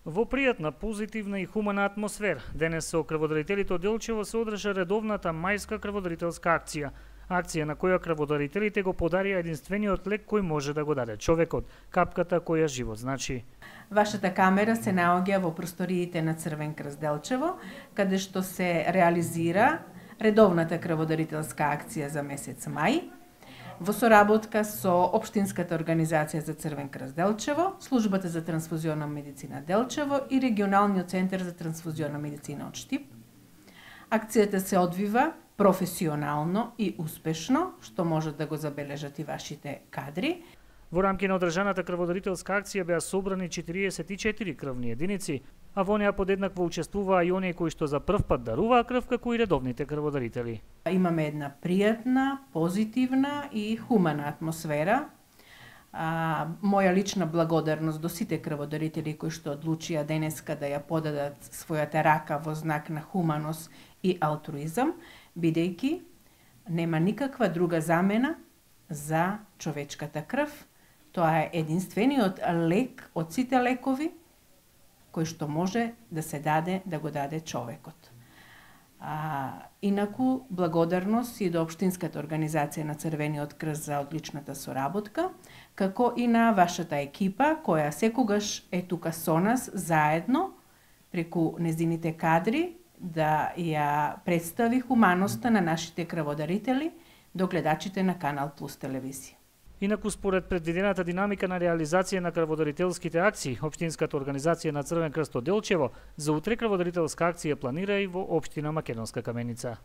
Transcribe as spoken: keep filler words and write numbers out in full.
Во пријатна, позитивна и хумана атмосфера, денес со крводарителите од Делчево се одржа редовната мајска крводарителска акција. Акција на која крводарителите го подарија единствениот лек кој може да го даде човекот, капката која живот значи. Вашата камера се наоѓа во просториите на Црвен крст Делчево, каде што се реализира редовната крводарителска акција за месец мај, во соработка со Општинската организација за Црвен крст Делчево, Службата за трансфузионна медицина Делчево и Регионалниот центар за трансфузионна медицина од Штип. Акцијата се одвива професионално и успешно, што можат да го забележат и вашите кадри. Во рамки на одржаната крводарителска акција беа собрани четириесет и четири крвни единици, а во неа подеднакво учествуваа и оние кои што за прв пат даруваа крв, како и редовните крводарители. Имаме една пријатна, позитивна и хумана атмосфера. А, моја лична благодарност до сите крводарители кои што одлучија денеска да ја подадат својата рака во знак на хуманост и алтруизам, бидејќи нема никаква друга замена за човечката крв. Тоа е единствениот лек од сите лекови кој што може да се даде, да го даде човекот. А, инаку, благодарност и до Општинската организација на Црвениот крст за одличната соработка, како и на вашата екипа, која секогаш е тука со нас, заедно, преку незините кадри, да ја представи хуманоста на нашите крводарители до гледачите на Канал Плюс телевизија. Инаку, според предвидената динамика на реализација на крводарителските акции, Општинската организација на Црвен крст од Делчево за утре крводарителска акција планира и во општина Македонска Каменица.